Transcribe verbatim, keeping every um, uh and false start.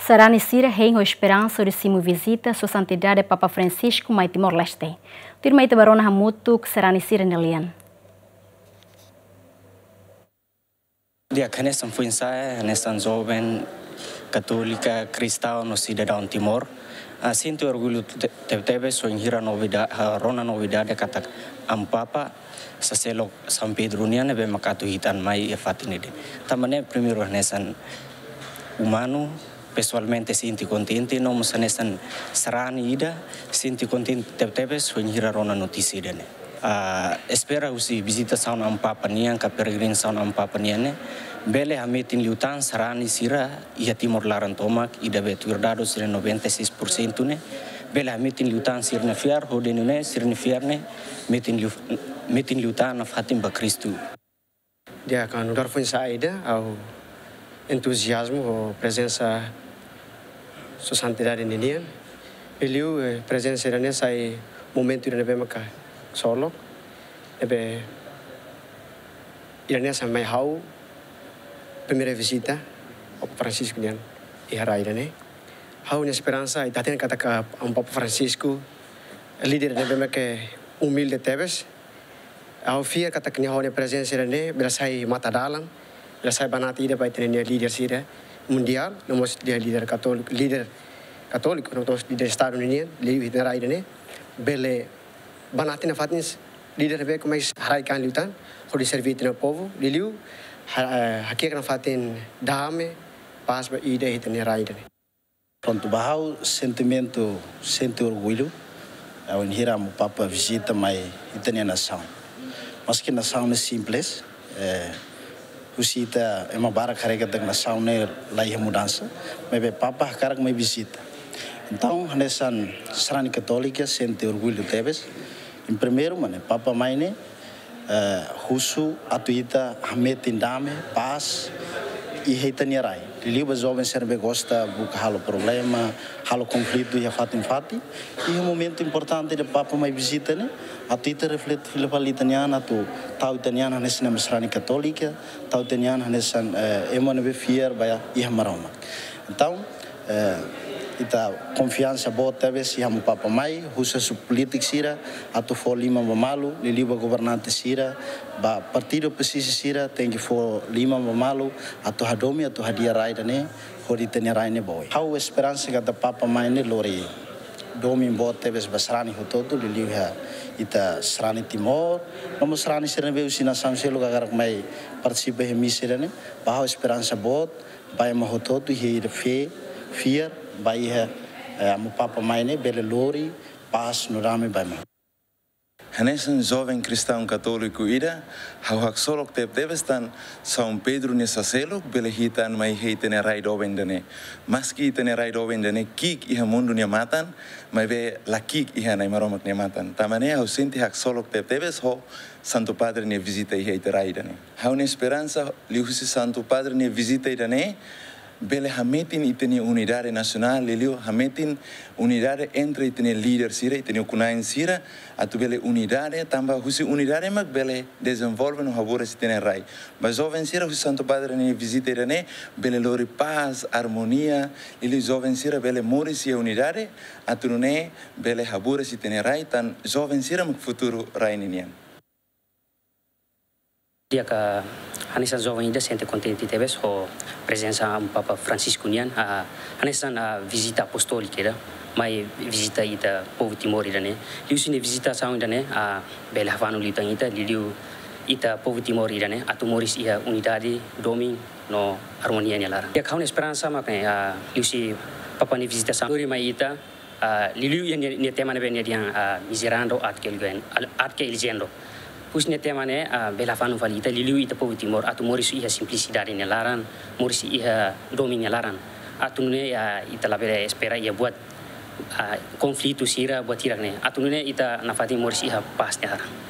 Sarani sira hein ho esperansa hodi simu vizita Sua Santidade Papa Francisco mai Timor-Leste. Tuirmai ita bá rona hamutuk sarani sira-nia lian. Di'ak, hanesan foin-sa'e, hanesan joven katólika, kristaun no sidadaun Timor, ah, sente orgullu te-, tebetebes wainhira novida-, ah, rona novidade katak Amu Papa saselok São Pedro nian ne'ebé mak atu hitan mai iha fatin ida-ne'e. Tanba ne'e primeiru hanesan umanu, pesoalmente sente kontente, no mós hanesan sarani ida sente kontente tebetebes wainhira rona notísia ida-ne'e. Ah, espera husi vizitasaun Amu Papa nian ka peregrinasaun Amu Papa nian ne'e bele hametin liután sarani sira iha Timor laran tomak, ida be tuir dadus sira noventa e seis por cento ne'e bele hametin liután sira-nia fiar, hodi nune'e sira-nia fiar ne'e metin liu-, metin liután nafatin ba Kristu. Di'ak, nu'udar foin-sa'e ida, ha'u entuziazmu ho prezensa Sua Santidade ninian. Liuliu, eh, prezensa ida-ne'e sai momentu ida ne'ebé maka solok, ne'ebé ida-ne'e sai mai ha'u primeira vizita Papa Francisco nian iha rai ida-ne'e. Ha'u-nia esperansa, ita hatene katak Amu Papa Francisco líder ne'ebé maka umilde tebes. Ha'u fiar katak nia ho nia prezensa ida-ne'e bele sai matadalan, bele sai banati ida ba ita-nia líder sira mundiál, no mós líder, líder katóliku, líder katóliku, no mós líder estadu ninian, liuliu iha rai ida-ne'e, bele banati nafatin líder ne'ebé ke mai haraik an liután hodi serve ita-nia povu, liuliu ha-, eh, hakiak nafatin dame, pás ba ida iha ita-nia rai ida-ne'e. Prontu, ba ha'u sentimentu, sente orgullu, eh, wainhira Amu Papa vizita mai ita-nia nasaun. Maski nasaun ne'e simples, eh, husi ita ema barak haree katak nasaun ne'e la iha mudansa, maibé Papa hakarak mai vizita. Entaun, hanesan sarani katólika sente orgullu tebes. Em primeiru, mane, Papa mai ne'e, eh, husu atu ita hametin dame, pás, iha ita-nia rai. Liuliu ba joven sira ne'ebé gosta buka halo problema, halo konflitu iha fatin-fatin. Iha momentu importante ida Papa mai vizita ne'e, atu ita reflete fila fali ita-nia an, atu tau ita-nia an hanesan ema sarani katólika, tau ita-nia an hanesan, eh, ema ne'ebé fiar ba iha Maromak. Entaun, eh, ita konfiansa boot tebes iha Amu Papa mai, husu polítiku sira atu fó liman ba malu, liuliu ba governante sira, ba partidu opozisi sira, tenke fó liman ba malu, atu hadomi, atu hadi'a rai ida-ne'e, hodi ita-nia rai ne'e ba oin. Ha'u esperansa katak Papa mai ne'e lori domin boot tebes ba sarani hotu-hotu, liuliu iha ita sarani Timor, no mós sarani sira ne'ebé husi nasaun seluk hakarak mai partisipa iha misa ida-ne'e, ba ha'u esperansa boot, ba ema hotu-hotu iha ida fé, fiar ba iha, eh, Amu Papa mai ne'e bele lori pás no dame ba ema. Hanesan joven kristaun katóliku ida, ha'u haksolok tebetebes tan São Pedro nia saselok bele hitan mai iha ita-nia rai doben ida-ne'e. Maski ita-nia rai doben ida-ne'e ki'ik iha mundu nia matan, maibé la ki'ik iha Na'i Maromak nia matan. Tanba ne'e ha'u sente haksolok tebetebes ho Santu Padre nia vizita iha ita rai ida-ne'e. Ha'u-nia esperansa liuhusi Santu Padre nia vizita ida-ne'e bele hametin ita-nia unidade nasionál, liuliu hametin unidade entre ita-nia líder sira, ita-nia ukun-na'in sira, atu bele unidade, tanba husi unidade mak bele dezenvolve no haburas ita-nia rai. Ba joven sira, husi Santu Padre nia vizita ida-ne'e bele lori pás, armonia, liuliu joven sira bele moris iha unidade, atu nune'e bele haburas ita-nia rai, tan joven sira mak futuru rai ninian. Di'ak, hanesan joven ida sente kontente tebes ho prezensa Amu Papa Francisco nian, ah, hanesan, ah, vizita apostólika ida, mai vizita ita povu Timor ida-ne'e. Liuhusi nia vizitasaun ida-ne'e, ah, bele hafanu liután ita, liuliu ita povu Timor ida-ne'e, atu moris iha unidade, domin no armonia nia laran. Di'ak, ha'u-nia esperansa mak ne'e, ah, liuhusi Papa nia vizitasaun, lori mai ita, ah, liuliu iha nia, nia tema ne'ebé nia dehan, ah, miserando ad que eligen-, ad que eligiendo. Husi nia tema ne'e, ah, bele hafanu fali ita, liuliu ita povu Timor, atu moris iha simplisidade nia laran, moris iha domin nia laran. Atu nune'e, ah, ita labele espera iha buat, ah, konflitu sira, buat hirak ne'e. Atu nune'e ita nafatin moris iha pás nia laran.